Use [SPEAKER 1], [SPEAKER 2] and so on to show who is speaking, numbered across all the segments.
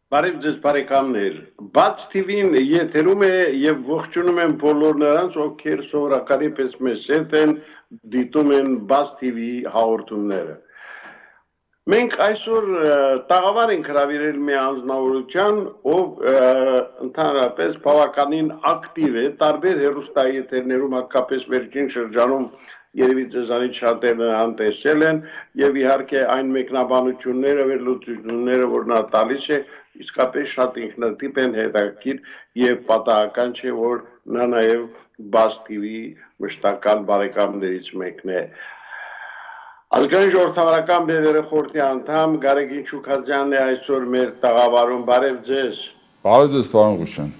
[SPEAKER 1] Բարև ձեզ բարեկամներ, Բաց TV-ն եթերում է եւ ողջունում եմ բոլոր նրանց, ովքեր սովորականի պես մեզ հետ են, դիտում են Բաց TV հաղորդումները։ Մենք այսօր տաղավար ենք հրավիրել մի անձնավորության, ով ընդհանրապես բավականին ակտիվ է, տարբեր հեռուստաեթերներում, հատկապես վերջին շրջանում երևի ձեզանից շատերն անտեսել են եւ իհարկե այն մեկնաբանությունները, վերլուծությունները, որ նա տալիս է, իսկապես շատ ինքնատիպ են, հետաքրքիր եւ պատահական չէ, որ նա նաեւ Բաց TV մշտական բարեկամներից մեկն է։ Ազգային ժողովրդավարական բևեռի խորհրդի անդամ Գարեգին Շուքազյանն է այսօր մեր տաղավարում, բարև ձեզ։
[SPEAKER 2] Բարև ձեզ, պարոն Ղուշյան։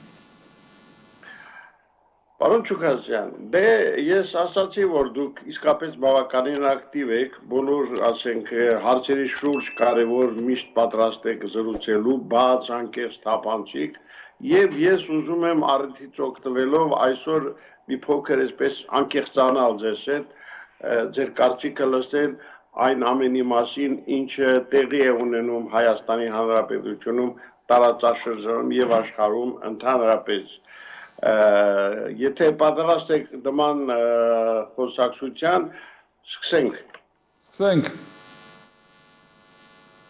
[SPEAKER 1] Պարոն Շուքազյան, դե ես ասացի, որ դուք իսկապես բավականին ակտիվ եք, բոլոր, ասենք, հարցերի շուրջ կարևոր միշտ պատրաստ եք զրուցելու, բաց, անկեղծ, թափանցիկ, եւ ես ուզում եմ առիթից օգտվելով այսօր մի փոքր այսպես անկեղծանալ ձեզ հետ, ձեր կարծիքը լսել այն ամենի մասին, ինչը տեղի է ունենում Հայաստանի Հանրապետությունում, տարածաշրջանում եւ աշխարհում ընդհանրապես։ Եթե պատրաստ եք նման խոսակցության, սկսենք։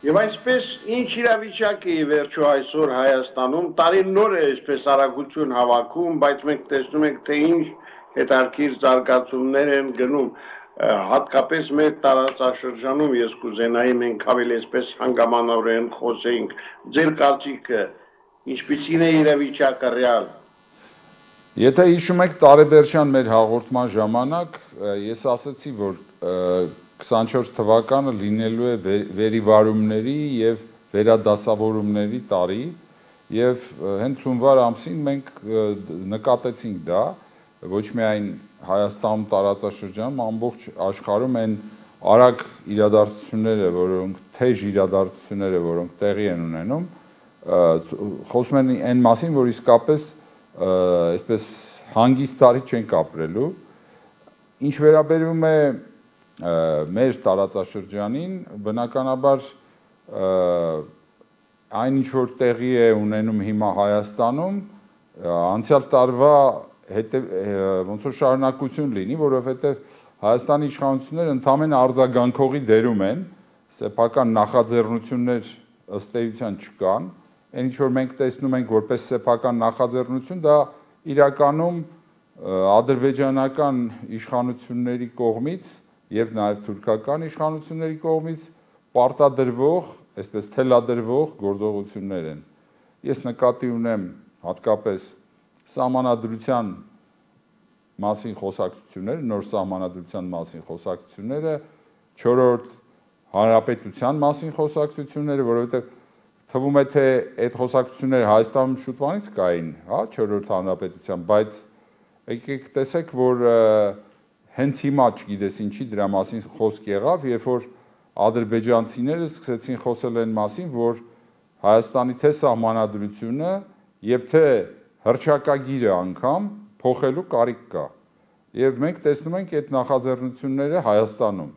[SPEAKER 1] Եվ այսպես ինչ իրավիճակ է վերջո այսօր Հայաստանում, տարին նոր է այսպես արագություն հավաքում, բայց մենք տեսնում ենք, թե ինչ հետաքրքիր զարգացումներ են գնում, հատկապես մեր տարածաշրջանում, ես կուզենայի մենք ավելի այսպես հանգամանորեն խոսեինք, ձեր կարծիքը, ինչպիսին է իրավիճակը ռեալ։
[SPEAKER 2] Եթե հիշում եք տարեբերչյան մեր հաղորդման ժամանակ, ես ասացի, որ 24 թվականը լինելու է վերիվարումների եւ վերադասավորումների տարի եւ հենց հունվար ամսին մենք նկատեցինք դա, ոչ միայն Հայաստանում տարածաշրջանում, ամբողջ աշխարհում այն արագ իրադարձությունները, որոնք թեժ իրադարձությունները, որոնք տեղի են ունենում, խոսում են այն մասին, որ իսկապես այսպես հանգիստ տարի չենք ապրելու։ Ինչ վերաբերում է մեր տարածաշրջանին, բնականաբար այն ինչ որ տեղի է ունենում հիմա Հայաստանում, անցյալ տարվա ոնց որ շարունակություն լինի, որովհետև Հայաստանի իշխանությունները ընդամենը արձագանքողի դերում են, սեփական նախաձեռնություններ ըստ էության չկան, այն ինչ որ մենք տեսնում ենք որպես սեփական նախաձեռնություն, դա իրականում ադրբեջանական իշխանությունների կողմից եւ նաեւ թուրքական իշխանությունների կողմից պարտադրվող, այսպես թելադրվող գործողություններ են։ Ես նկատի ունեմ հատկապես սահմանադրության մասին խոսակցությունները, նոր սահմանադրության մասին խոսակցությունները, 4-րդ հանրապետության մասին խոսակցությունները, որովհետև թվում է թե այդ խոսակցությունները Հայաստանում շուտվանից կային, հա, 4-րդ հանրապետության, բայց եկեք տեսեք, որ հենց հիմա չգիտես ինչի դրա մասին խոսք եղավ, երբ որ ադրբեջանցիները սկսեցին խոսել այն մասին, որ Հայաստանի թե սահմանադրությունը եւ թե հռչակագիրը անգամ փոխելու կարիք կա։ Եվ մենք տեսնում ենք այդ նախաձեռնությունները Հայաստանում։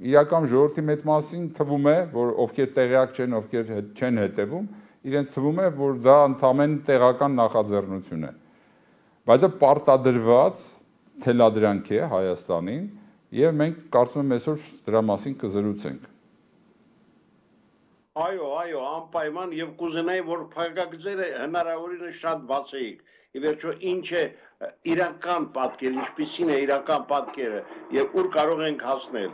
[SPEAKER 2] Իրական ժողովրդի մեծ մասին թվում է, որ ովքեր տեղյակ չեն, ովքեր չեն հետևում, իրենց թվում է, որ դա ընդամենը տեղական նախաձեռնություն է։ Բայց դա պարտադրված թելադրանք է Հայաստանին, եւ մենք կարծում եմ այսօր դրա մասին կզրուցենք։
[SPEAKER 1] Այո, անպայման եւ կուզենայի, որ փակագծերը հնարավորինս շատ բացեիք։ Ի վերջո ինչ է իրական պատկերը, ինչպիսին է իրական պատկերը եւ ուր կարող ենք հասնել։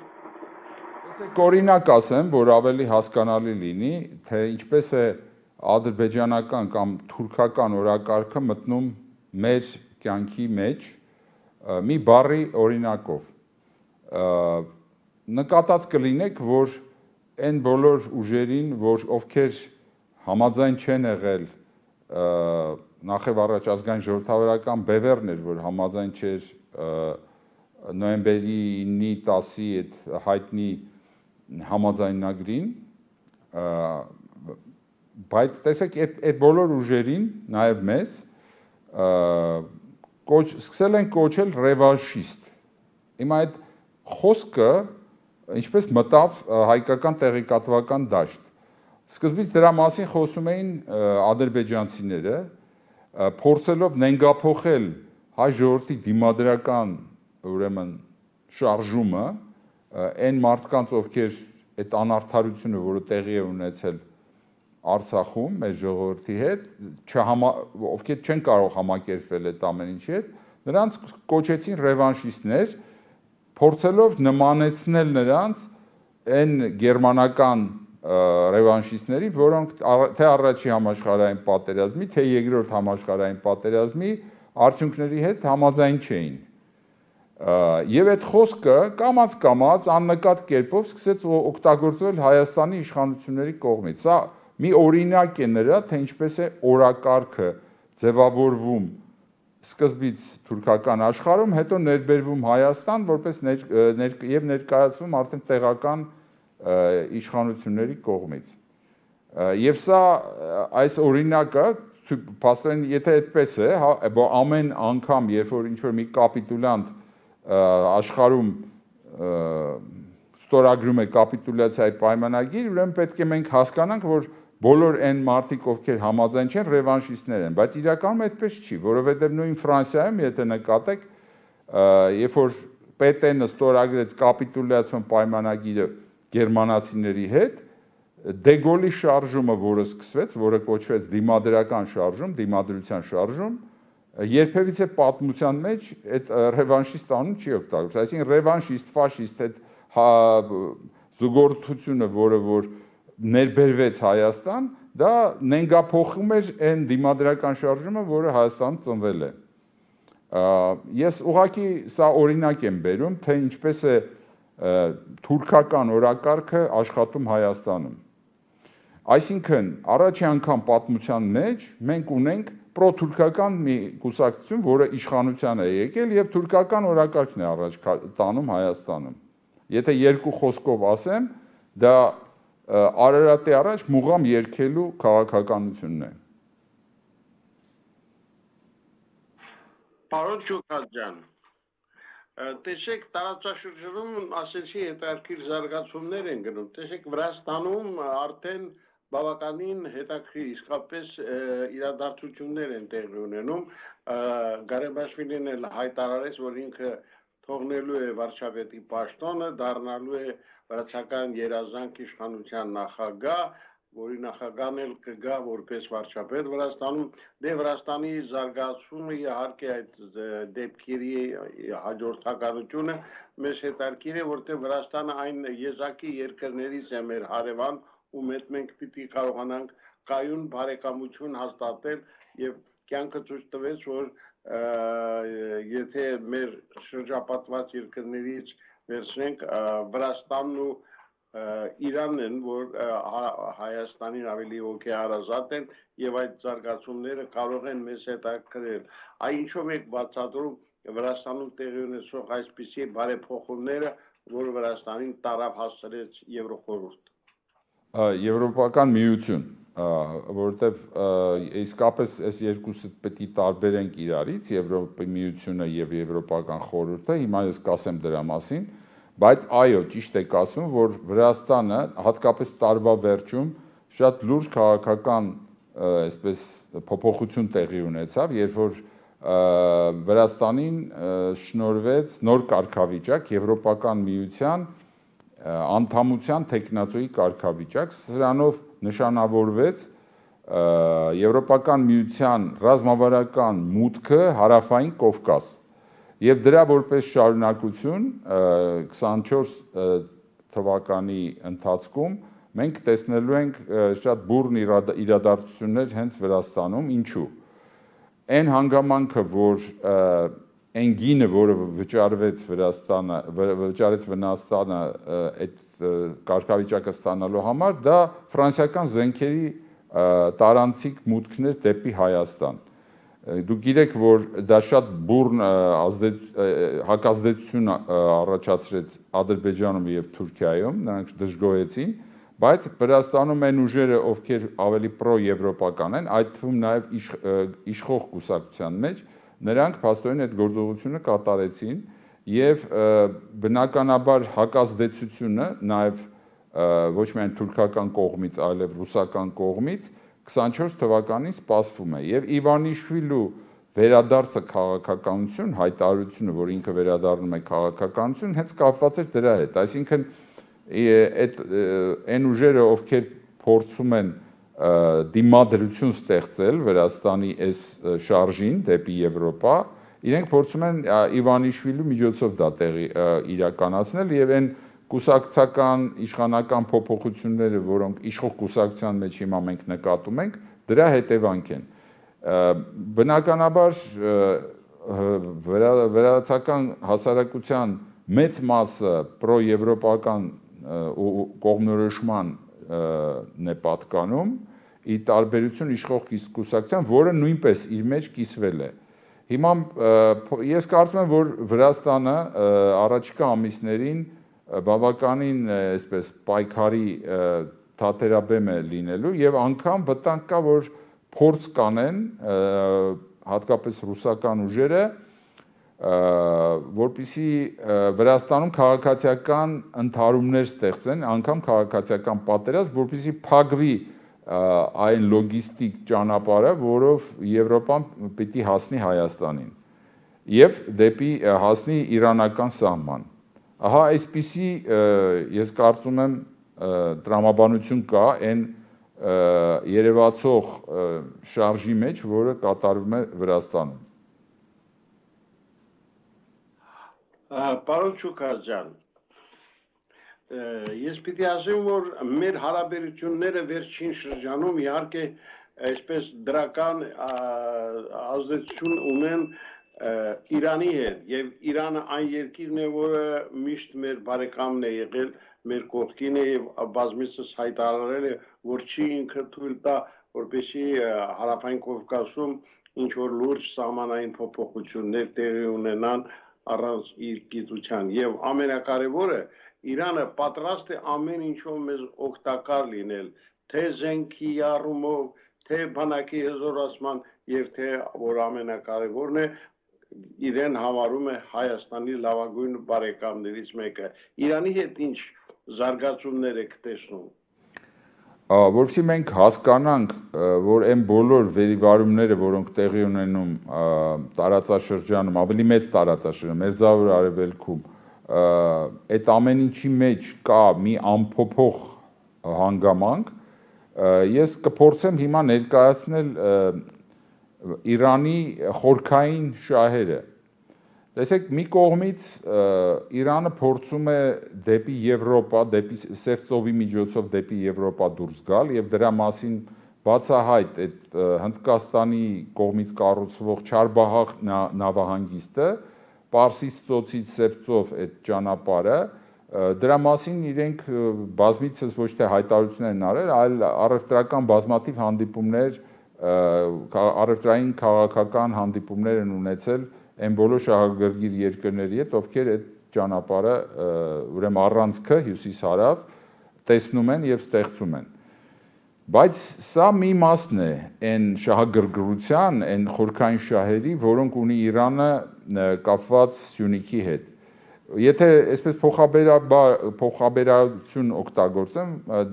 [SPEAKER 2] Տեսեք, օրինակ ասեմ, որ ավելի հասկանալի լինի, թե ինչպես է ադրբեջանական կամ թուրքական օրակարգը մտնում մեր կյանքի մեջ մի բառի օրինակով։ Նկատած կլինեք, որ այն բոլոր ուժերին, որ ովքեր համաձայն չեն եղել նախև առաջ ազգային ժողովրդավարական բևեռն էր, որ համաձայն չէր նոյեմբերի 9-ի 10-ի այդ հայտնի համաձայնագրին, բայց տեսեք այդ բոլոր ուժերին, նաև մեզ, սկսել են կոչել ռևանշիստ։ Հիմա այդ խոսքը ինչպես մտավ հայկական տեղեկատվական դաշտ։ Սկզբից դրա մասին խոսում էին ադրբեջանցիները, փորձելով նենգափոխել հայ ժողովրդի դիմադրական ուրեմն շարժումը, այն մարդկանց, ովքեր այդ անարդարությունը, որը տեղի է ունեցել Արցախում մեր ժողովրդի հետ, ովքեր չեն կարող համակերպվել այդ ամեն ինչի հետ, նրանց կոչեցին ռևանշիստներ, փորձելով նմանեցնել նրանց այն գերմանական ռևանշիստների, որոնք թե առաջի համաշխարհային պատերազմի, թե երկրորդ համաշխարհային պատերազմի արդյունքների հետ համաձայն չէին։ Եվ այդ խոսքը կամաց-կամաց աննկատ կերպով սկսեց օգտագործվել Հայաստանի իշխանությունների կողմից։ Սա մի օրինակ է նրա, թե ինչպես է օրակարգը ձևավորվում սկզբից թուրքական աշխարհում, հետո ներբերվում Հայաստան, որպես եւ ներկայացվում արդեն տեղական իշխանությունների կողմից։ Եվ սա այս օրինակը, փաստորեն, եթե այդպես է, ամեն անգամ, երբ որ ինչ-որ մի կապիտուլյանտ աշխարհում ստորագրում է կապիտուլյացիայի պայմանագիր, ուրեմն պետք է մենք հասկանանք, որ բոլոր այն մարդիկ, ովքեր համաձայն չեն, ռևանշիստներ են, բայց իրականում այդպես չի, որովհետև նույն Ֆրանսիայում, եթե նկատեք, երբ որ Պետենը ստորագրեց կապիտուլյացիոն պայմանագիրը գերմանացիների հետ, Դեգոլի շարժումը, որը սկսվեց, որը կոչվեց դիմադրական շարժում, դիմադրության շարժում, երբևիցե պատմության մեջ այդ ռևանշիստ անուն չի օգտագործվել, այսինքն ռևանշիստ, ֆաշիստ այդ զուգորդությունը, որը որ ներբերվեց Հայաստան, դա նենգափոխում էր այն դիմադրական շարժումը, որը Հայաստանում ծնվել է։ Ես ուղղակի սա օրինակ եմ բերում, թե ինչպես է թուրքական օրակարգը աշխատում Հայաստանում։ Այսինքն, առաջի անգամ պատմության մեջ մենք ունենք պրոթուրքական մի կուսակցություն, որը իշխանության է եկել եւ թուրքական օրակարգն է առաջ տանում Հայաստանում։ Եթե երկու խոսքով ասեմ, դա Արարատի առաջ մուղամ երգելու քաղաքականությունն է։
[SPEAKER 1] Պարոն Շուքազյան, տեսեք, տարածաշրջանում ասեցի հետաքրքիր զարգացումներ են գնում, տեսեք Վրաստանում արդեն բավականին հետաքրքիր իսկապես իրադարձություններ են տեղի ունենում, Գարեբաշվիլին էլ հայտարարեց, որ ինքը թողնելու է վարչապետի պաշտոնը, դառնալու է վրացական երազանք իշխանության նախագահ, որի նախագահն էլ կգա որպես վարչապետ Վրաստանում, դե Վրաստանի զարգացումը իհարկե այդ դեպքերի հաջորդականությունը մեզ հետաքրքիր է, որտեղ Վրաստանը այն եզակի երկրներից է մեր հարևան, ում հետ մենք պիտի կարողանանք կայուն բարեկամություն հաստատել եւ կյանքը ցույց տվեց, որ եթե մեր շրջապատված երկրներից վերցնենք Վրաստանն ու Իրանն են, որ Հայաստանին ավելի հոգեհարազատ են եւ այդ զարգացումները կարող են մեզ հետաքրքրել։ Այ ինչով եք բացատրում Վրաստանում տեղի ունեցող այսպիսի բարեփոխումները, որ Վրաստանին տարավ հասցրեց Եվրոխորհուրդ։
[SPEAKER 2] Եվրոպական միություն, որովհետև իսկապես այս երկուսը պետք է տարբերենք իրարից, Եվրոպայի միությունը եւ Եվրոպական խորհուրդը, հիմա ես կասեմ դրա մասին, բայց այո, ճիշտ եք ասում, որ Վրաստանը հատկապես տարվա վերջում շատ լուրջ քաղաքական այսպես փոփոխություն տեղի ունեցավ, երբ որ Վրաստանին շնորհվեց նոր կարգավիճակ Եվրոպական միության անդամության տեխնացուի կարգավիճակ, սրանով նշանավորվեց Եվրոպական միության ռազմավարական մուտքը հարավային Կովկաս եւ դրա որպես շարունակություն 24 թվականի ընթացքում մենք տեսնելու ենք շատ բուռն իրադարձություններ հենց Վրաստանում, ինչու։ Այն հանգամանքը, որ այն գինը, որը վճարվեց Վրաստանը այդ կարգավիճակը ստանալու համար, դա ֆրանսիական զենքերի տարանցիկ մուտքներ դեպի Հայաստան։ Դուք գիտեք, որ դա շատ բուռն հակազդեցություն առաջացրեց Ադրբեջանում եւ Թուրքիայում, նրանք դժգոհեցին, բայց Վրաստանում այն ուժերը, ովքեր ավելի պրո-եվրոպական են, այդ թվում նաեւ իշխող կուսակցության մեջ, նրանք փաստորեն այդ գործողությունը կատարեցին եւ բնականաբար հակազդեցությունը նաեւ ոչ միայն թուրքական կողմից, այլև ռուսական կողմից 24 թվականին սպասվում է եւ Իվանիշվիլու վերադարձը քաղաքականություն, հայտարարությունը, որ ինքը վերադառնում է քաղաքականություն, հենց կապված էր դրա հետ, այսինքն այդ այն ուժերը, ովքեր փորձում են դիմադրություն ստեղծել Վրաստանի այս շարժին դեպի Եվրոպա, իրենք փորձում են Իվանիշվիլու միջոցով դա տեղի իրականացնել եւ այն կուսակցական իշխանական փոփոխությունները, որոնք իշխող կուսակցության մեջ հիմա մենք նկատում ենք, դրա հետևանք են։ Բնականաբար վրացական հասարակության մեծ մասը պրոեվրոպական կողմնորոշման է պատկանում, ի տարբերություն իշխող կուսակցության, որը նույնպես իր մեջ կիսվել է։ Հիմա ես կարծում եմ, որ Վրաստանը առաջիկա ամիսներին բավականին այսպես պայքարի թատերաբեմ է լինելու եւ անգամ վտանգ կա, որ փորձ կանեն հատկապես ռուսական ուժերը, որպեսզի Վրաստանում քաղաքացիական ընդհարումներ ստեղծեն, անգամ քաղաքացիական պատերազմ, որպեսզի փակվի այն լոգիստիկ ճանապարհը, որով Եվրոպան պիտի հասնի Հայաստանին եւ դեպի հասնի իրանական սահման։ Ահա այսպիսի ես կարծում եմ տրամաբանություն կա այն երևացող շարժի մեջ, որը կատարվում է Վրաստանում։
[SPEAKER 1] Պարոն Շուքարյան, ես պիտի ասեմ, որ մեր հարաբերությունները վերջին շրջանում իհարկե այսպես դրական ազդեցություն ունեն Իրանի հետ եւ Իրանը այն երկիրն է, որը միշտ մեր բարեկամն է եղել, մեր կողքին է եւ բազմիցս հայտարարել է, որ չի ինքը թույլ տա, որպեսզի Հարավային Կովկասում ինչ որ լուրջ սահմանային փոփոխություններ տեղի ունենան առանց իր գիտության եւ ամենակարևորը Իրանը պատրաստ է ամեն ինչով մեզ օգտակար լինել, թե զենքի առումով, թե բանակի հզորացման եւ թե որ ամենակարևորն է իրեն համարում է Հայաստանի լավագույն բարեկամներից մեկը։ Իրանի հետ ինչ զարգացումներ եք տեսնում։
[SPEAKER 2] Որովհետեւ մենք հասկանանք, որ այն բոլոր վերիվարումները, որոնք տեղի ունենում տարածաշրջանում, ավելի մեծ տարածաշրջանում, Մերձավոր Արևելքում, այդ ամեն ինչի մեջ կա մի անփոփոխ հանգամանք, ես կփորձեմ հիմա ներկայացնել Իրանի խորքային շահերը։ Տեսեք, մի կողմից Իրանը փորձում է դեպի Եվրոպա, դեպի Սև ծովի միջոցով դեպի Եվրոպա դուրս գալ եւ դրա մասին բացահայտ այդ Հնդկաստանի կողմից կառուցվող Չարբահաղ նավահանգիստը, Պարսից ծոցից Սև ծով այդ ճանապարհը, դրա մասին իրենք բազմիցս ոչ թե հայտարարություններ են արել, այլ առևտրական բազմաթիվ հանդիպումներ առևտրային քաղաքական հանդիպումներ են ունեցել այն բոլոր շահագրգիռ երկրների հետ, ովքեր այդ ճանապարհը ուրեմն առանցքը հյուսիս-հարավ տեսնում են եւ ստեղծում են։ Բայց սա մի մասն է այն շահագրգռության, այն խորքային շահերի, որոնք ունի Իրանը կապված Սյունիքի հետ։ Եթե այսպես փոխաբերություն օգտագործեմ,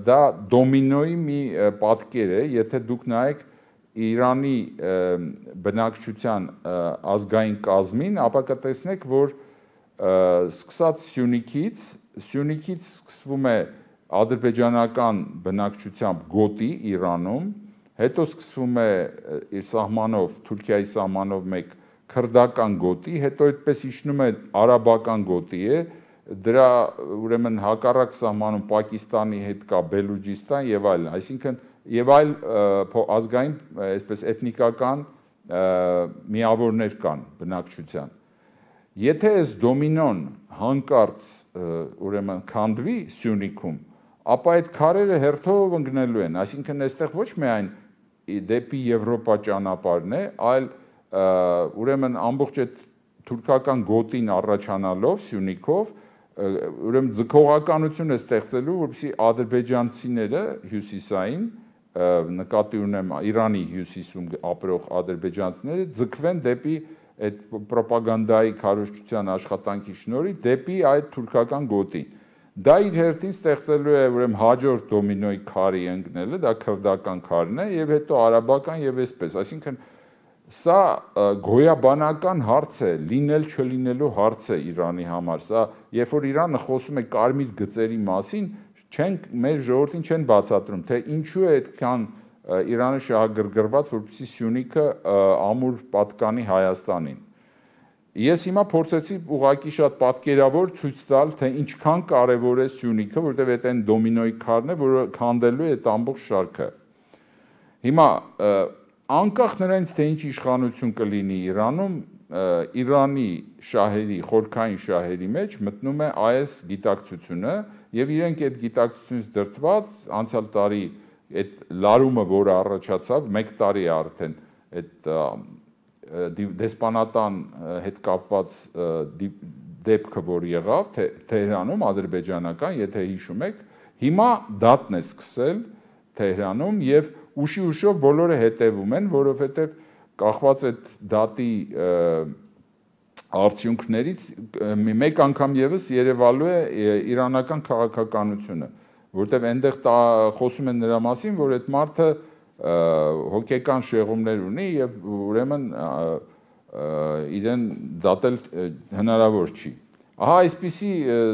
[SPEAKER 2] դա դոմինոյի մի պատկեր է, եթե դուք նայեք Իրանի բնակչության ազգային կազմին, ապա կտեսնեք, որ սկսած Սյունիքից սկսվում է ադրբեջանական բնակչությամբ գոտի Իրանում, հետո սկսվում է սահմանով, Թուրքիայի սահմանով մեկ քրդական գոտի, հետո այդպես իջնում է արաբական գոտի է, դրա ուրեմն հակառակ սահմանում Պակիստանի հետ կա Բելուջիստան եւ այլն, այսինքն եւ այլ ազգային, այսպես էթնիկական միավորներ կան բնակչության։ Եթե այս դոմինոն հանկարծ ուրեմն քանդվի Սյունիքում, ապա այդ քարերը հերթով ընկնելու են, այսինքն այստեղ ոչ միայն դեպի Եվրոպա ճանապարհն է, այլ ուրեմն ամբողջ այդ թուրքական գոտին առաջանալով Սյունիքով, ուրեմն ձգողականություն է ստեղծելու, որպեսզի ադրբեջանցիները հյուսիսային նկատի ունեմ Իրանի հյուսիսում ապրող ադրբեջանցիները ձգվեն դեպի այդ պրոպագանդայի քարոզչության աշխատանքի շնորհիվ դեպի այդ թուրքական գոտին։ դա իր հերթին ստեղծելու է ուրեմն հաջորդ դոմինոյի քարի ընկնելը, դա քրդական քարն է եւ հետո արաբական եւ այսպես, այսինքն սա գոյաբանական հարց է, լինել չլինելու հարց է Իրանի համար, սա երբ որ Իրանը խոսում է կարմիր գծերի մասին, մեր ժողովրդին չեն բացատրում, թե ինչու է այդքան Իրանը շահագրգռված, որպեսզի Սյունիքը ամուր պատկանի Հայաստանին։ Ես հիմա փորձեցի ուղղակի շատ պատկերավոր ցույց տալ, թե ինչքան կարևոր է Սյունիքը, որտեղ այդ այն դոմինոյի քարն է, որը քանդելու է այդ ամբողջ շարքը։ Հիմա անկախ նրանից, թե ինչ իշխանություն կլինի Իրանում, Իրանի շահերի, խորքային շահերի մեջ մտնում է այս գիտակցությունը եւ իրենք այդ գիտակցությունից դրդված անցյալ տարի այդ լարումը, որը առաջացավ, 1 տարի է արդեն այդ դեսպանատան հետ կապված դեպքը, որ եղավ Թեհրանում, ադրբեջանական, եթե հիշում եք, հիմա դատն է սկսել Թեհրանում եւ ուշի-ուշով բոլորը հետևում են, որովհետեւ կախված այդ դատի արդյունքներից մեկ անգամ եւս երևալու է իրանական քաղաքականությունը, որտեղ այնտեղ խոսում են նրա մասին, որ այդ մարդը հոգեկան շեղումներ ունի եւ ուրեմն իրեն դատել հնարավոր չի։ Ահա այսպիսի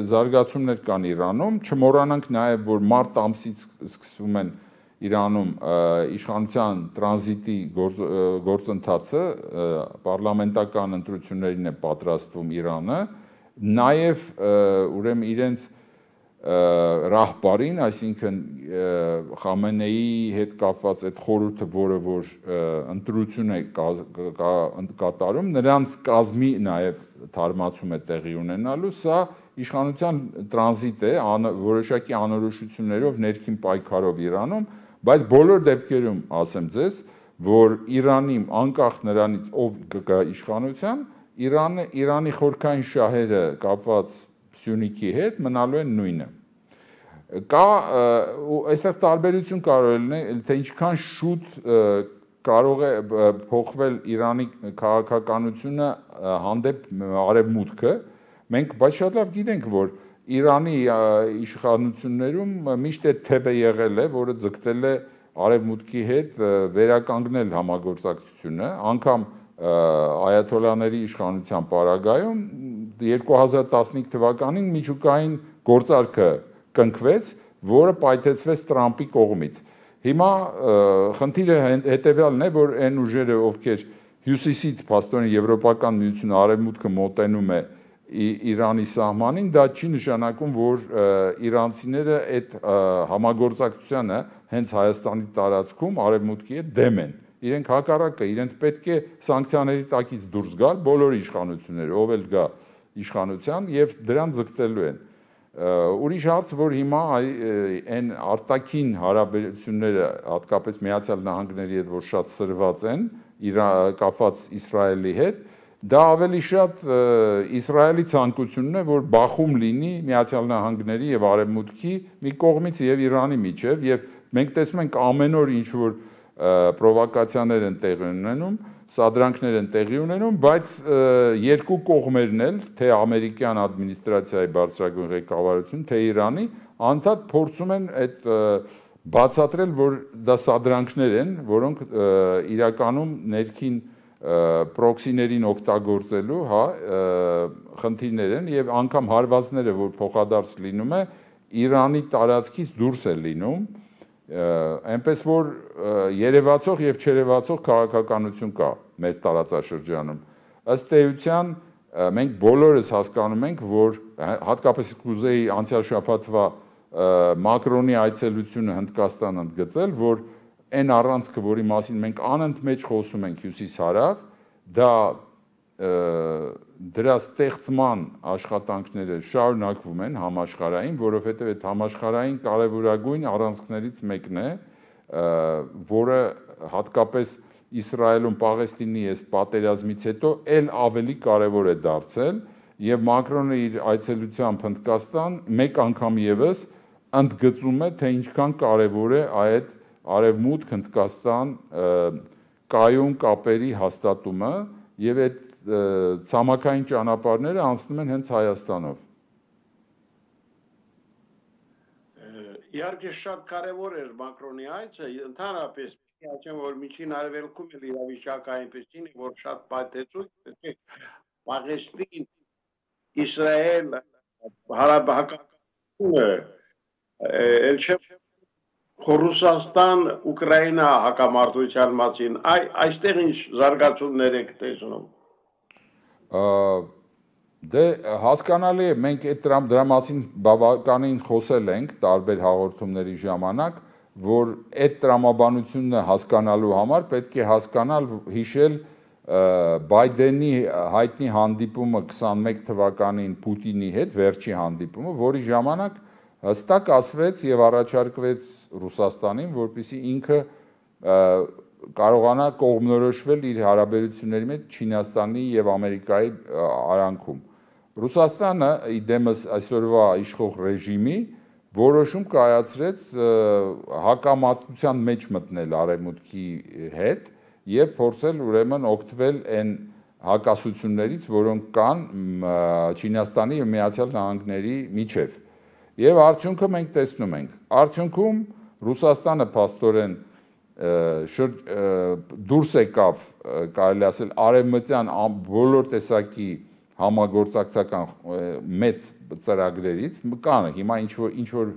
[SPEAKER 2] զարգացումներ կան Իրանում, չմոռանանք նաեւ, որ մարտ ամսից սկսվում են Իրանում իշխանության տրանզիտի գործընթացը, պարլամենտական ընտրություններին է պատրաստվում Իրանը, նաեւ ուրեմն իրենց ռահբարին, այսինքն Խամենեի հետ կապված այդ խորհուրդը, որը որ ընտրություն է կատարում, նրանց կազմի նաև թարմացում է տեղի ունենալու, սա իշխանության տրանզիտ է, որոշակի անորոշություններով, ներքին պայքարով Իրանում, բայց բոլոր դեպքերում ասեմ ձեզ, որ Իրանի անկախ նրանից ով կգա իշխանության, Իրանի խորքային շահերը կապված Սյունիքի հետ մնալու են նույնը։ Կա այստեղ տարբերություն կարող է լինել, թե ինչքան շուտ կարող է փոխվել Իրանի քաղաքականությունը հանդեպ արևմուտքը, մենք բայց շատ լավ գիտենք, որ Իրանի իշխանություններում միշտ այդ թևը եղել է, որը ձգտել է արևմուտքի հետ վերականգնել համագործակցությունը, անգամ այաթոլաների իշխանության պարագայում 2015 թվականին միջուկային գործարքը կնքվեց, որը պայթեցվեց Տրամպի կողմից։ Հիմա խնդիրը հետևյալն է, որ այն ուժերը, ովքեր հյուսիսից փաստորեն Եվրոպական միությունը արևմուտքը մոտենում է Իրանի սահմանին, դա չի նշանակում, որ իրանցիները այդ համագործակցությանը հենց Հայաստանի տարածքում արևմուտքի հետ դեմ են։ Իրենք հակառակը, իրենց պետք է սանկցիաների տակից դուրս գալ բոլոր իշխանությունները, ով էլ գա իշխանության եւ դրան ձգտելու են։ Ուրիշ հարց, որ հիմա այն արտաքին հարաբերությունները, հատկապես Միացյալ Նահանգների հետ, որ շատ սրված են, կապված Իսրայելի հետ, դա ավելի շատ Իսրայելի ցանկությունն է, որ բախում լինի Միացյալ Նահանգների եւ Արևմուտքի մի կողմից եւ Իրանի միջեւ, եւ մենք տեսնում ենք ամեն օր ինչ որ պրովոկացիաներ են տեղի ունենում, սադրանքներ են տեղի ունենում, բայց երկու կողմերն էլ, թե ամերիկյան ադմինիստրացիայի բարձրագույն ղեկավարություն, թե Իրանի, անդադ փորձում են այդ բացատրել, որ դա սադրանքներ են, որոնք իրականում ներքին պրոքսիներին օգտագործելու, հա, խնդիրներ են եւ անգամ հարվածները, որ փոխադարձ լինում է, Իրանի տարածքից դուրս է լինում, այնպես որ երևացող եւ չերևացող քաղաքականություն կա մեր տարածաշրջանում։ Ըստ էության մենք բոլորս հասկանում ենք, որ հատկապես կուզեի անցյալ շաբաթվա Մակրոնի այցելությունը Հնդկաստան ընդգծել, որ այն առանցքը, որի մասին մենք անընդմեջ խոսում ենք հյուսիս-հարավ, դա դրա ստեղծման աշխատանքները շարունակվում են համաշխարհային, որովհետև այդ համաշխարհային կարևորագույն առանցքներից մեկն է, որը հատկապես Իսրայելում Պաղեստինի այս պատերազմից հետո էլ ավելի կարևոր է դարձել, եւ Մակրոնը իր այցելությամբ Հնդկաստան մեկ անգամ եւս ընդգծում է, թե ինչքան կարևոր է այդ Արևմուտք Հնդկաստան կայուն կապերի հաստատումը եւ այդ ցամաքային ճանապարհները անցնում են հենց Հայաստանով։
[SPEAKER 1] Իհարկե շատ կարևոր էր Մակրոնի այցը, ընդհանրապես ասեմ, որ միջին արևելքում էլ իրավիճակը այնպեսին է, որ շատ պայթեցույց է, Պաղեստին, Իսրայել, հարաբերակցությունը, էլ չէ Ռուսաստան, Ուկրաինա հակամարտության մասին, այստեղ ինչ զարգացումներ եք տեսնում։
[SPEAKER 2] Դե հասկանալի է, մենք այդ դրա մասին բավականին խոսել ենք տարբեր հաղորդումների ժամանակ, որ այդ տրամաբանությունը հասկանալու համար պետք է հասկանալ, հիշել Բայդենի հայտնի հանդիպումը 21 թվականին Պուտինի հետ, վերջի հանդիպումը, որի ժամանակ հստակ ասվեց եւ առաջարկվեց Ռուսաստանին, որպեսզի ինքը կարողանա կողմնորոշվել իր հարաբերությունների մեջ Չինաստանի եւ Ամերիկայի արանքում։ Ռուսաստանը իդեմս այսօրվա իշխող ռեժիմի որոշում կայացրեց հակամարտության մեջ մտնել Արևմուտքի հետ եւ փորձել ուրեմն օգտվել այն հակասություններից, որոնք կան Չինաստանի եւ Միացյալ Նահանգների միջև։ Եվ արդյունքը մենք տեսնում ենք։ Արդյունքում Ռուսաստանը փաստորեն դուրս եկավ, կարելի ասել, արևմտյան բոլոր տեսակի համագործակցական մեծ ծրագրերից, կան հիմա ինչ որ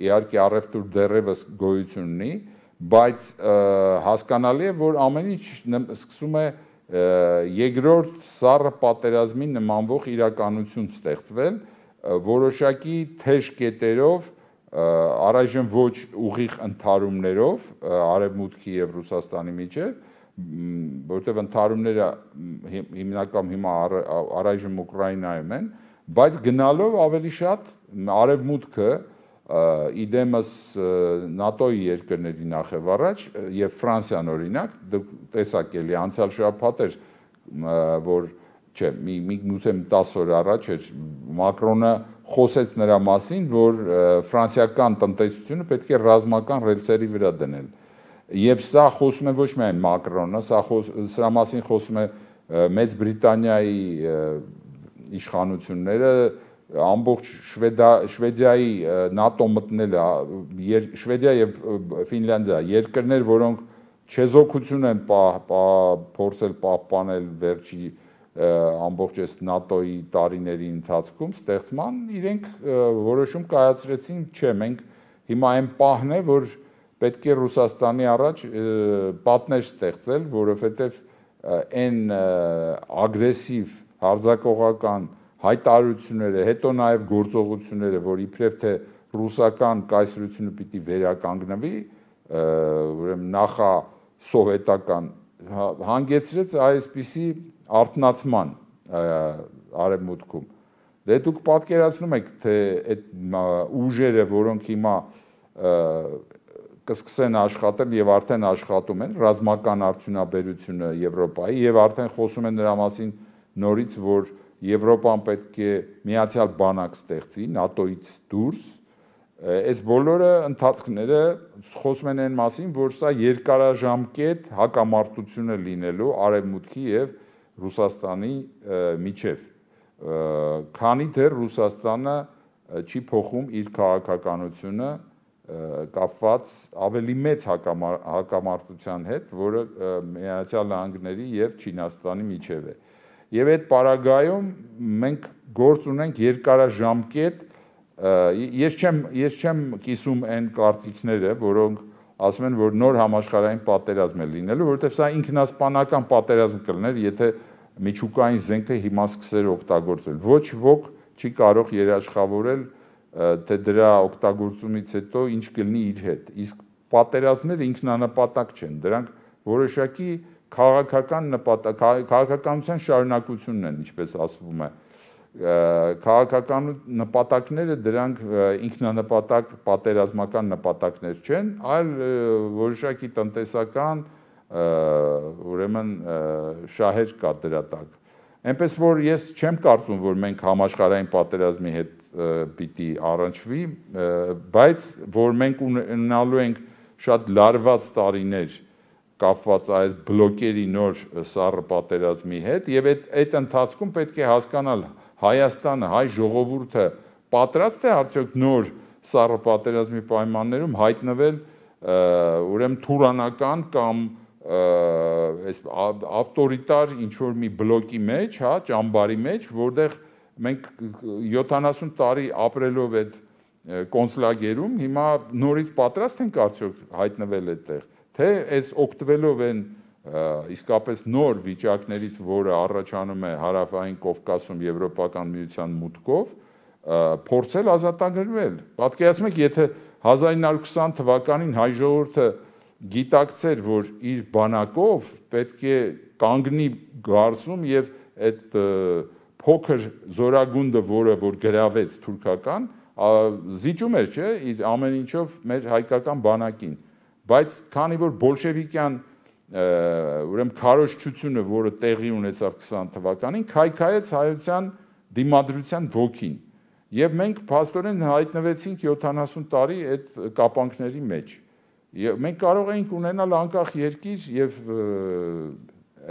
[SPEAKER 2] իհարկե առևտուր դեռևս գոյություն ունի, բայց հասկանալի է, որ ամեն ինչ սկսում է երկրորդ սառը պատերազմի նմանվող իրականություն ստեղծվել, որոշակի թեժ կետերով, առայժմ ոչ ուղիղ ընդհարումներով Արևմուտքի եւ Ռուսաստանի միջև, որտեղ ընդհարումները հիմնական հիմա առայժմ Ուկրաինայում են, բայց գնալով ավելի շատ Արևմուտքը իդեմս ՆԱՏՕ-ի երկրների նախևառաջ եւ Ֆրանսիան օրինակ, դուք տեսաք էլի անցյալ շաբաթ էր, որ չէ, միգուցե 10 օր առաջ էր Մակրոնը խոսեց նրա մասին, որ ֆրանսիական տնտեսությունը պետք է ռազմական ռելսերի վրա դնել։ Եվ սա խոսում է ոչ միայն Մակրոնը, սրա մասին խոսում է Մեծ Բրիտանիայի իշխանությունները, ամբողջ Շվեդիայի ՆԱՏՕ մտնելը, Շվեդիա եւ Ֆինլանդիա երկրներ, որոնք չեզոքություն են փորձել պահպանել վերջի ամբողջ այս ՆԱՏՕ-ի տարիների ընթացքում ստեղծման, իրենք որոշում կայացրեցին, չէ, մենք հիմա այն պահն է, որ պետք է Ռուսաստանի առաջ պատներ ստեղծել, որովհետև այն ագրեսիվ հարձակողական հայտարարությունները, հետո նաև գործողությունները, որ իբրև թե ռուսական կայսրությունը պիտի վերականգնվի, ուրեմն նախասովետական հանգեցրեց այսպիսի արթնացման Արևմուտքում։ Դե դուք պատկերացնում եք, թե այդ ուժերը, որոնք հիմա կսկսեն աշխատել եւ արդեն աշխատում են ռազմական արդյունաբերությունը Եվրոպայի եւ արդեն խոսում են նրա մասին նորից, որ Եվրոպան պետք է միացյալ բանակ ստեղծի ՆԱՏՕ-ից դուրս, այս բոլորը ընթացքները խոսում են այն մասին, որ սա երկարաժամկետ հակամարտություն է լինելու Արևմուտքի եւ Ռուսաստանի միջև, քանի դեռ Ռուսաստանը չի փոխում իր քաղաքականությունը կապված ավելի մեծ հակամարտության հետ, որը Միացյալ Նահանգների եւ Չինաստանի միջև է։ Եվ այդ պարագայում մենք գործ ունենք երկարաժամկետ, ես չեմ կիսում այն կարծիքները, որոնք ասում են, որ նոր համաշխարհային պատերազմ է լինելու, որովհետև սա ինքնասպանական պատերազմ կլիներ, եթե միջուկային զենքը հիմա սկսեր օգտագործել։ Ոչ ոք չի կարող երաշխավորել, թե դրա օգտագործումից հետո ինչ կլինի իր հետ։ Իսկ պատերազմները ինքնանպատակ չեն, դրանք որոշակի քաղաքական քաղաքականության շարունակությունն են, ինչպես ասվում է։ Քաղաքական նպատակները դրանք ինքնանպատակ պատերազմական նպատակներ չեն, այլ որոշակի տնտեսական ուրեմն շահեր կա դրա տակ։ Այնպես որ ես չեմ կարծում, որ մենք համաշխարհային պատերազմի հետ պիտի առնչվի, բայց որ մենք ունենալու ենք շատ լարված տարիներ կապված այս բլոկերի նոր սառը պատերազմի հետ եւ այդ ընթացքում պետք է հասկանալ Հայաստանը, հայ ժողովուրդը պատրաստ է արդյոք նոր սառը պատերազմի պայմաններում հայտնվել ուրեմն թուրանական կամ ավտորիտար ինչ-որ մի բլոկի մեջ, հա, ճամբարի մեջ, որտեղ մենք 70 տարի ապրելով այդ կոնցլագերում, հիմա նորից պատրաստ ենք արդյոք հայտնվել այդտեղ, թե այս օգտվելով են իսկապես նոր վիճակներից, որը առաջանում է հարավային Կովկասում Եվրոպական միության մուտքով, փորձել ազատագրվել։ Պատկերացնում եք, եթե 1920 թվականին հայ ժողովուրդը գիտակցեր, որ իր բանակով պետք է կանգնի գարսում եւ այդ փոքր զորագունդը, որը որ գրավեց թուրքական, զիջում էր, չէ, իր ամեն ինչով մեր հայկական բանակին, բայց քանի որ բոլշևիկյան ուրեմն քարոզչությունը, որը տեղի ունեցավ 20 թվականին, քայքայեց հայության դիմադրության ոգին, եւ մենք փաստորեն հայտնվեցինք 70 տարի այդ կապանքների մեջ։ Եվ մենք կարող էինք ունենալ անկախ երկիր եւ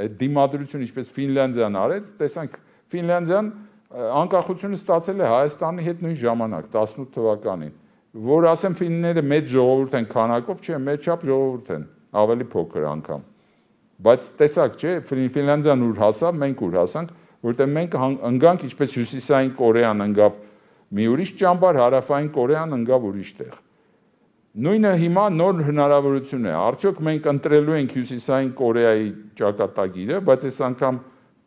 [SPEAKER 2] այդ դիմադրությունը, ինչպես Ֆինլանդիան արեց, տեսանք Ֆինլանդիան անկախությունը ստացել է Հայաստանի հետ նույն ժամանակ 18 թվականին, որ ասեմ ֆինները մեծ ժողովուրդ են քանակով, չէ, մեր չափ ժողովուրդ են, ավելի փոքր անգամ։ Բայց տեսակ, չէ, Ֆինլանդիան ուր հասավ, մենք ուր հասանք, որտեղ մենք ընկանք, ինչպես Հյուսիսային Կորեան ընկավ մի ուրիշ ճամբար, Հարավային Կորեան ընկավ ուրիշ տեղ։ Նույնը հիմա նոր հնարավորություն է, արդյոք մենք ընտրելու ենք Հյուսիսային Կորեայի ճակատագիրը, բայց այս անգամ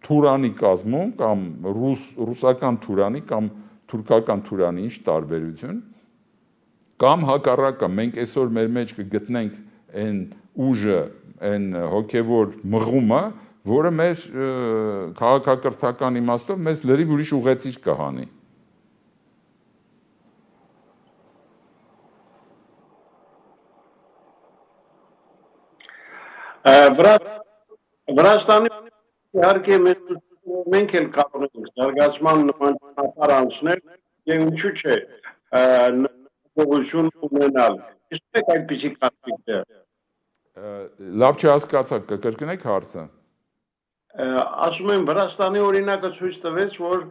[SPEAKER 2] Թուրանի կազմում կամ ռուսական Թուրանի կամ թուրքական Թուրանի, ինչ տարբերություն, կամ հակառակը, մենք այսօր մեր մեջ կգտնենք այն ուժը, այն հոգևոր մղումը, որը մեր քաղաքակրթական իմաստով մեզ լրիվ ուրիշ ուղեցիր կհանի։
[SPEAKER 1] Վրաստանի իհարկե մենք էլ կարող ենք զարգացման նման ճանապարհ անցնել եւ ինչու՞ չէ նորություն ունենալ։ Իսկ եք այդպիսի կարծիքներ։
[SPEAKER 2] Լավ չհասկացա, կկրկնեք հարցը։
[SPEAKER 1] Ասում եմ Վրաստանի օրինակը ցույց տվեց, որ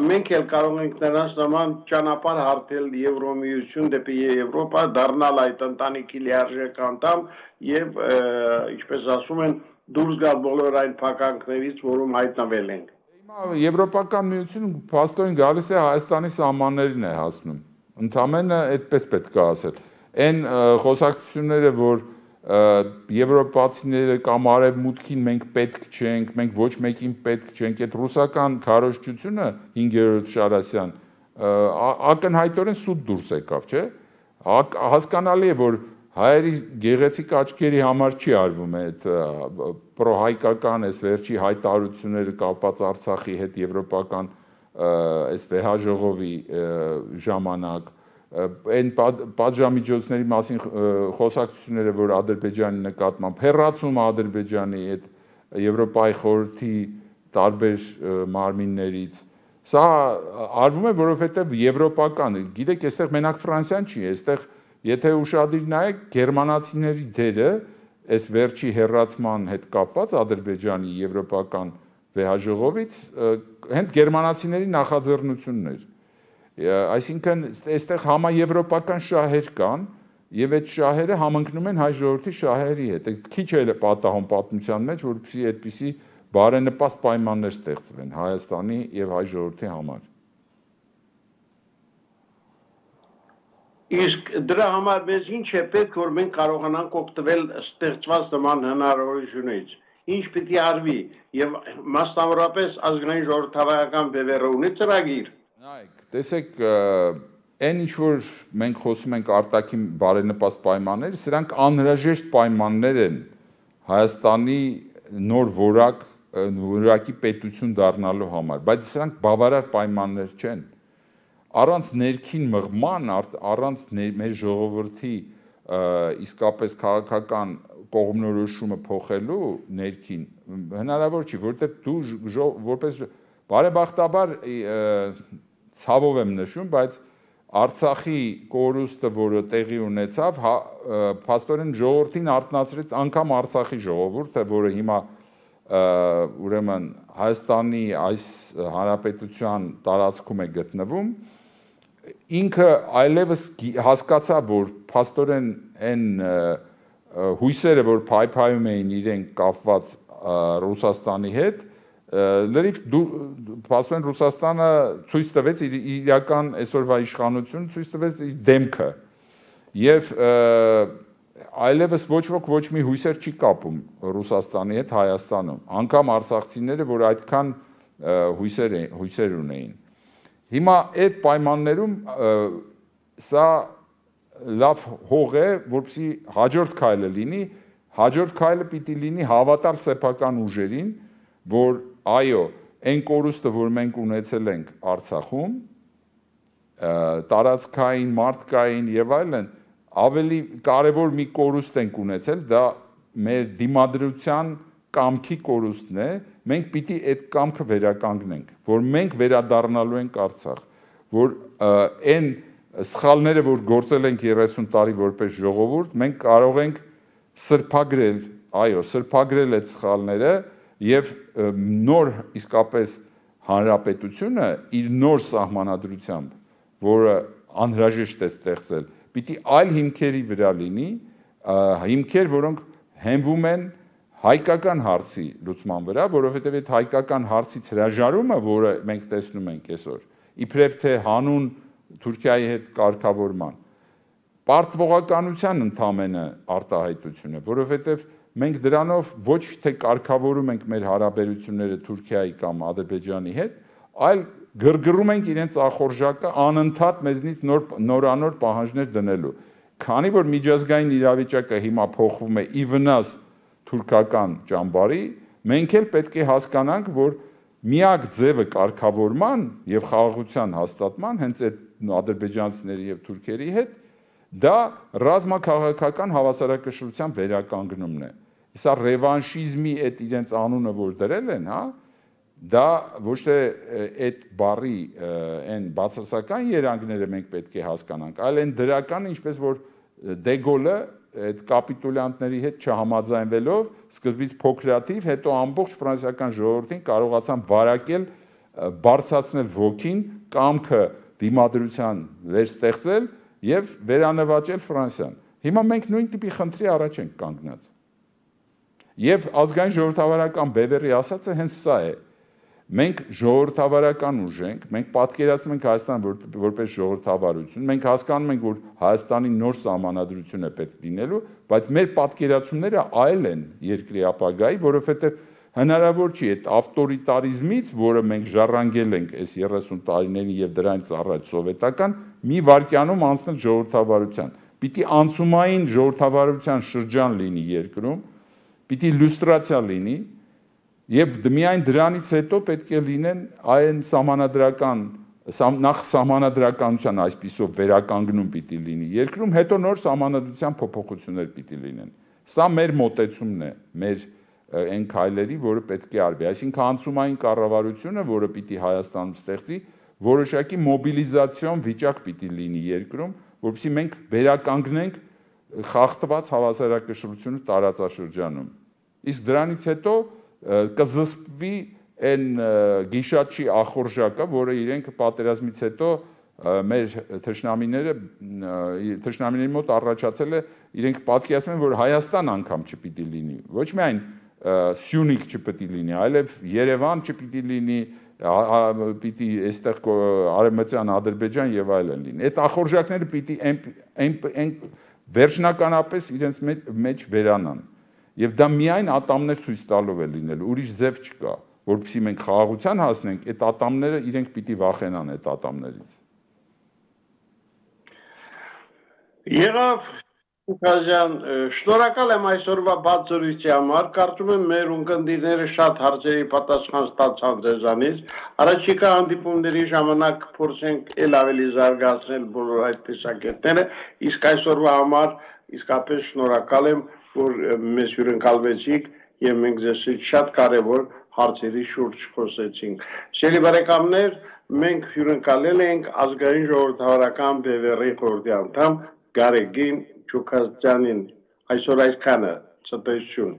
[SPEAKER 1] մենք էլ կարող ենք նրանց նման ճանապարհ հարթել Եվրոմիություն դեպի Եվրոպա, դառնալ այդ ընտանիքի լիարժեք անդամ եւ ինչպես ասում են դուրս գալ բոլոր այն փականքներից, որում հայտնվել ենք։
[SPEAKER 2] Հիմա Եվրոպական միությունը փաստորեն գալիս է Հայաստանի սահմաններին է հասնում։ Ընդամենը այդպես պետք է ասել։ Այն խոսակցությունները, որ եվրոպացիները կամ արևմուտքին մենք պետք չենք, մենք ոչ մեկին պետք չենք, այդ ռուսական քարոզչությունը 5-րդ Շարասյան ակնհայտորեն սուտ դուրս եկավ, չէ՞։ Հասկանալի է, որ հայերի գեղեցիկ աչքերի համար չի արվում այդ պրոհայկական այս վերջի հայտարարությունները կապված Արցախի հետ եվրոպական այս վեհաժողովի ժամանակ այն պատժամիջոցների մասին խոսակցությունները, որ Ադրբեջանի նկատմամբ հեռացում Ադրբեջանի այդ Եվրոպայի խորհրդի տարբեր մարմիններից, սա արվում է, որովհետև եվրոպական, գիտեք, այստեղ մենակ Ֆրանսիան չի, այստեղ եթե ուշադիր նայեք, գերմանացիների դերը այս վերջի հեռացման հետ կապված Ադրբեջանի եվրոպական վեհաժողովից հենց գերմանացիների նախաձեռնությունն էր։ Այսինքն այստեղ համաեվրոպական շահեր կան եւ այդ շահերը համընկնում են հայ ժողովրդի շահերի հետ։ Քիչ է պատահում պատմության մեջ, որպեսզի այդպիսի բարենպաստ պայմաններ ստեղծվեն Հայաստանի եւ հայ ժողովրդի համար։
[SPEAKER 1] Իսկ դրա համար մեզ ինչ է պետք, որ մենք կարողանանք օգտվել ստեղծված նման հնարավորությունից։ Ինչ պիտի արվի եւ մասնավորապես ազգային ժողովրդավարական բևեռը ունի ծրագիր։
[SPEAKER 2] Նայեք, տեսեք, այն ինչ որ մենք խոսում ենք արտաքին բարենպաստ պայմաններ, սրանք անհրաժեշտ պայմաններ են Հայաստանի նոր որակի պետություն դառնալու համար, բայց սրանք բավարար պայմաններ չեն։ Առանց ներքին մղման, առանց մեր ժողովրդի իսկապես քաղաքական կողմնորոշումը փոխելու ներքին հնարավոր չի, որտեղ դու որպես բարեբախտաբար ցավով եմ նշում, բայց Արցախի կորուստը, որը տեղի ունեցավ, փաստորեն ժողովրդին արթնացրեց անգամ Արցախի ժողովուրդը, որը հիմա ուրեմն Հայաստանի այս հանրապետության տարածքում է գտնվում, ինքը այլևս հասկացա, որ փաստորեն այն հույսերը, որ փայփայում էին իրենք կապված Ռուսաստանի հետ, լրիվ փաստորեն Ռուսաստանը ցույց տվեց իր իրական այսօրվա իշխանությունը, ցույց տվեց իր դեմքը եւ այլևս ոչ ոք ոչ մի հույսեր չի կապում Ռուսաստանի հետ Հայաստանում, անգամ արցախցիները, որ այդքան հույսեր ունեին։ Հիմա այդ պայմաններում սա լավ հող է, որպեսզի հաջորդ քայլը լինի, հաջորդ քայլը պիտի լինի հավատալ սեփական ուժերին, որ այո, այն կորուստը, որ մենք ունեցել ենք Արցախում, տարածքային, մարդկային եւ այլն, ավելի կարևոր մի կորուստ ենք ունեցել, դա մեր դիմադրության կամքի կորուստն է, մենք պիտի այդ կամքը վերականգնենք, որ մենք վերադառնալու ենք Արցախ, որ այն սխալները, որ գործել ենք 30 տարի որպես ժողովուրդ, մենք կարող ենք սրբագրել, այո, սրբագրել այդ սխալները եւ նոր իսկապես հանրապետությունը իր նոր սահմանադրությամբ, որը անհրաժեշտ է ստեղծել, պիտի այլ հիմքերի վրա լինի, հիմքեր, որոնք հենվում են հայկական հարցի լուծման վրա, որովհետև այդ հայկական հարցից հրաժարումը, որը մենք տեսնում ենք այսօր, իբրև թե հանուն Թուրքիայի հետ կարգավորման, պարտվողականության ընդամենը արտահայտություն է, որովհետև մենք դրանով ոչ թե կարգավորում ենք մեր հարաբերությունները Թուրքիայի կամ Ադրբեջանի հետ, այլ գրգռում ենք իրենց ախորժակը անընդհատ մեզնից նորանոր պահանջներ դնելու։ Քանի որ միջազգային իրավիճակը հիմա փոխվում է ի վնաս թուրքական ճամբարի, մենք էլ պետք է հասկանանք, որ միակ ձևը կարգավորման եւ խաղաղության հաստատման հենց այդ ադրբեջանցիների եւ թուրքերի հետ դա ռազմաքաղաքական հավասարակշռության վերականգնումն է։ Սա ռևանշիզմի այդ իրենց անունը, որ դրել են, հա, դա ոչ թե այդ բառի այն բացասական երանգները մենք պետք է հասկանանք, այլ այն դրականը, ինչպես որ Դեգոլը այդ կապիտուլյանտների հետ չհամաձայնվելով սկզբից փոքրաթիվ, հետո ամբողջ ֆրանսիական ժողովրդին կարողացան վարակել, բարձրացնել ոգին, կամքը դիմադրության վերստեղծել եւ վերանվաճել Ֆրանսիան։ Հիմա մենք նույն տիպի խնդրի առաջ ենք կանգնած։ Եվ ազգային ժողովրդավարական բևեռի ասածը հենց սա է։ Մենք ժողովրդավարական ուժ ենք, մենք պատկերացնում ենք Հայաստանը որպես ժողովրդավարություն, մենք հասկանում ենք, որ Հայաստանի նոր սահմանադրություն է պետք լինելու, բայց մեր պատկերացումները այլ են երկրի ապագայի, որովհետև հնարավոր չի այդ ավտորիտարիզմից, որը մենք ժառանգել ենք այս 30 տարիներին եւ դրանից առաջ սովետական, մի վայրկյանում անցնել ժողովրդավարության։ Պիտի անցումային ժողովրդավարության շրջան լինի երկրում, պիտի լյուստրացիա լինի եւ միայն դրանից հետո պետք է լինեն այն սահմանադրական նախ սահմանադրականության այսպիսով վերականգնում պիտի լինի երկրում, հետո նոր սահմանադրության փոփոխություններ պիտի լինեն։ Սա մեր մոտեցումն է, մեր այն քայլերի, որը պետք է արվի, այսինքն անցումային կառավարությունը, որը պիտի Հայաստանում ստեղծի, որոշակի մոբիլիզացիոն վիճակ պիտի լինի երկրում, որովհետեւ մենք վերականգնենք խախտված հավասարակշռությունը տարածաշրջանում։ Իսկ դրանից հետո կզսպվի այն գիշատչի ախորժակը, որը իրենք պատերազմից հետո մեր թշնամիների մոտ առաջացել է, իրենք պատկերացնում են, որ Հայաստան անգամ չպիտի լինի, ոչ միայն Սյունիք չպիտի լինի, այլև Երևան չպիտի լինի, պիտի այստեղ Արևմտյան Ադրբեջան եւ այլն լինի։ Այդ ախորժակները պիտի վերջնականապես իրենց մեջ վերանան։ Եվ դա միայն ատամներ ցույց տալով է լինելու, ուրիշ ձև չկա, որովհետեւ մենք խաղաղության հասնենք, այդ ատամները իրենք պիտի վախենան այդ ատամներից։
[SPEAKER 1] Եղավ Ուկազյան, շնորհակալ եմ այսօրվա բացառույթի համար, կարծում եմ մեր ունկնդիրները շատ հարցերի պատասխան ստացան ձեզանից, առաջիկա հանդիպումների ժամանակ փորձենք էլ ավելի զարգացնել բոլոր այդ տեսակետները, իսկ այսօրվա համար իսկապես շնորհակալ եմ, որ մեզ հյուրընկալվեցիք եւ մենք ձեզից շատ կարեւոր հարցերի շուրջ խոսեցինք։ Սիրելի բարեկամներ, մենք հյուրընկալել ենք ազգային ժողովրդավարական բևեռի խորհրդի անդամ Գարեգին Չուկազյանին, այսօր այսքանը, ցտեսություն։